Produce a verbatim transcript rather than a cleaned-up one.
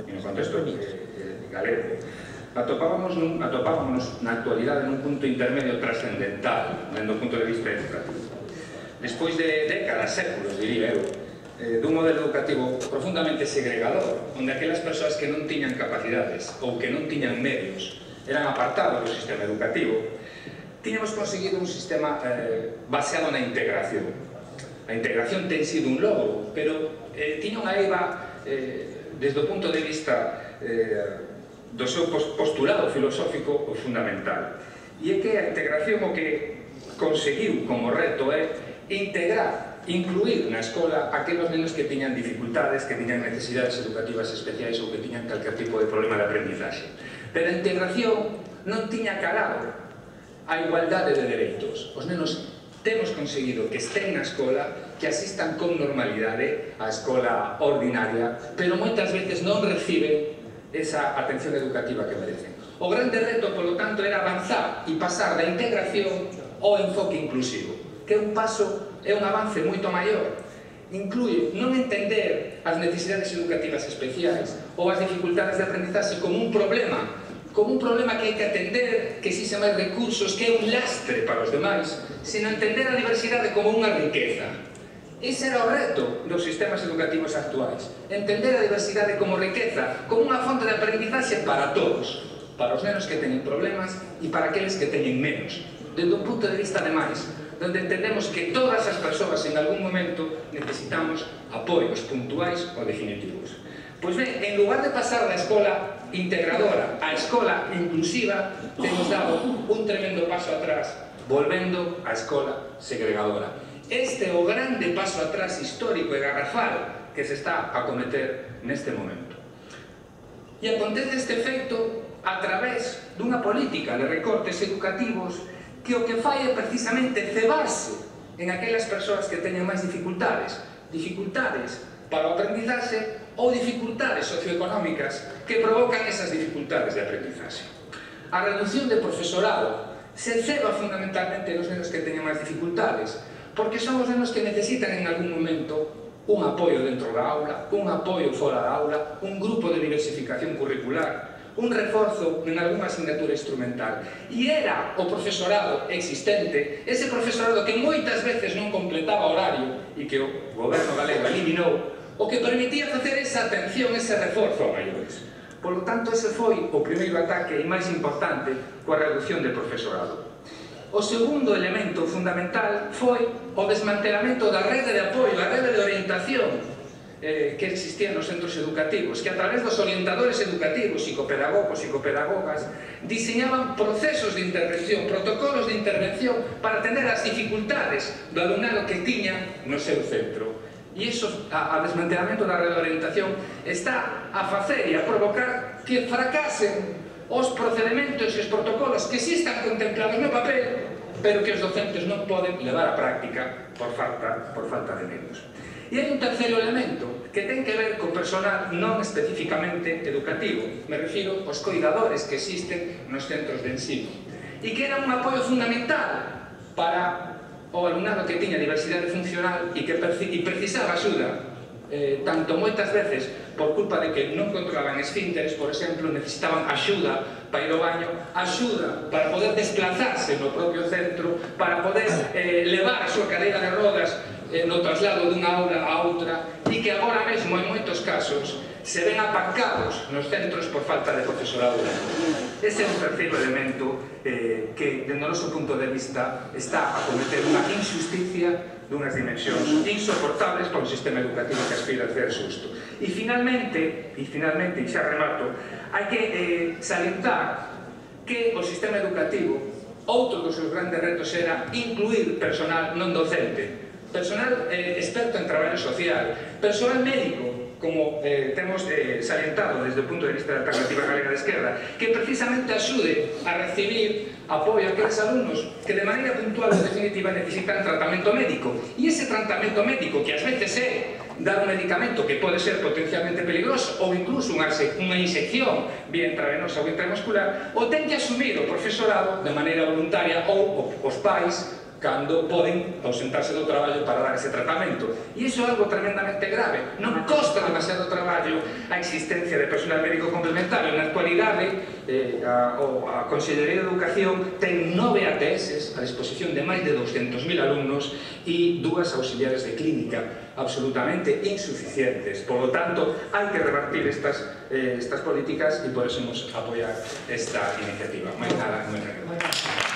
no contexto galego, atopábamos atopábamos na actualidade nun punto intermedio trascendental dentro do punto de vista educativo. Despois de décadas, séculos, diría eu, dun modelo educativo profundamente segregador, onde aquelas persoas que non tiñan capacidades ou que non tiñan medios eran apartados do sistema educativo, tiñamos conseguido un sistema eh, baseado na integración. A integración ten sido un logro, pero eh, tiña unha eiva eh, desde o punto de vista eh, do seu postulado filosófico o fundamental. E é que a integración o que conseguiu como reto é integrar, incluir na escola aqueles nenos que tiñan dificultades, que tiñan necesidades educativas especiais ou que tiñan calquer tipo de problema de aprendizaxe. Pero a integración non tiña calado a igualdade de dereitos. Os nenos temos conseguido que estén na escola, que asistan con normalidade á escola ordinaria, pero moitas veces non reciben esa atención educativa que merecen. O grande reto, polo tanto, era avanzar e pasar da integración ao enfoque inclusivo, que é un paso, é un avance moito maior. Inclui non entender as necesidades educativas especiais ou as dificultades de aprendizaxe como un problema, como un problema que hai que atender, que existe máis recursos, que é un lastre para os demais, sino entender a diversidade como unha riqueza. Ese era o reto dos sistemas educativos actuais, entender a diversidade como riqueza, como unha fonte de aprendizaxe para todos, para os nenos que teñen problemas e para aqueles que teñen menos, desde un punto de vista ademais, donde entendemos que todas as persoas en algún momento necesitamos apoios puntuais ou definitivos. Pois ben, en lugar de pasar da escola integradora á escola inclusiva, temos dado un tremendo paso atrás, volvendo á escola segregadora. Este é o grande paso atrás histórico e garrafal que se está a cometer neste momento. E acontece este efecto a través dunha política de recortes educativos que o que fai é precisamente cebarse en aquelas persoas que teñen máis dificultades, dificultades para o aprendizaxe ou dificultades socioeconómicas que provocan esas dificultades de aprendizaxe. A reducción de profesorado se ceba fundamentalmente nos nenos que teñen máis dificultades, porque son os nenos que necesitan en algún momento un apoio dentro da aula, un apoio fora da aula, un grupo de diversificación curricular, un reforzo en algunha asignatura instrumental. E era o profesorado existente, ese profesorado que moitas veces non completaba horario e que o goberno galego eliminou, o que permitía facer esa atención, ese reforzo a maiores. Por lo tanto, ese foi o primeiro ataque e máis importante coa reducción de profesorado. O segundo elemento fundamental foi o desmantelamento da rede de apoio, a rede de orientación eh, que existía nos centros educativos, que a través dos orientadores educativos, psicopedagogos, psicopedagogas, diseñaban procesos de intervención, protocolos de intervención para atender as dificultades do alumnado que tiña no seu centro. E iso, a, a desmantelamento da rede de orientación está a facer e a provocar que fracasen os procedementos e os protocolos que sí están contemplados no papel, pero que os docentes non poden levar á práctica por falta, por falta de medios. E hai un terceiro elemento que ten que ver co personal non especificamente educativo, me refiro aos coidadores que existen nos centros de ensino, e que era un apoio fundamental para o alumnado que tiña diversidade funcional e que e precisaba axuda, eh, tanto moitas veces por culpa de que non controlaban esfínteres, por exemplo, necesitaban axuda para ir ao baño, axuda para poder desplazarse no propio centro, para poder eh, levar a súa cadeira de rodas eh, no traslado dunha aula a outra, e que agora mesmo, en moitos casos, se ven apancados nos centros por falta de profesorado. Ese é un terceiro elemento eh, que, dentro do noso punto de vista, está a cometer unha injusticia dunhas dimensións insoportables para un sistema educativo que aspira a ser xusto. E finalmente, e finalmente, e xa remato, hai que eh, salientar que o sistema educativo, outro dos seus grandes retos era incluir personal non docente, personal eh, experto en traballo social, personal médico, como eh, temos eh, salientado desde o punto de vista da Alternativa Galega de Esquerda, que precisamente axude a recibir apoio a aqueles alumnos que de maneira puntual ou definitiva necesitan tratamento médico. E ese tratamento médico, que ás veces é dar un medicamento que pode ser potencialmente peligroso ou incluso unha, unha insección vía intravenosa ou intramuscular, o ten que asumir o profesorado de maneira voluntaria ou os pais cando poden ausentarse do traballo para dar ese tratamento. E iso é algo tremendamente grave. Non costa demasiado traballo a existencia de personal médico complementario. Na actualidade, eh, a, a Consellería de Educación ten nove A T S a disposición de máis de douscentos mil alumnos e dúas auxiliares de clínica absolutamente insuficientes. Por lo tanto, hai que revertir estas, eh, estas políticas e por eso nos apoiar esta iniciativa. Máis nada, moi nada.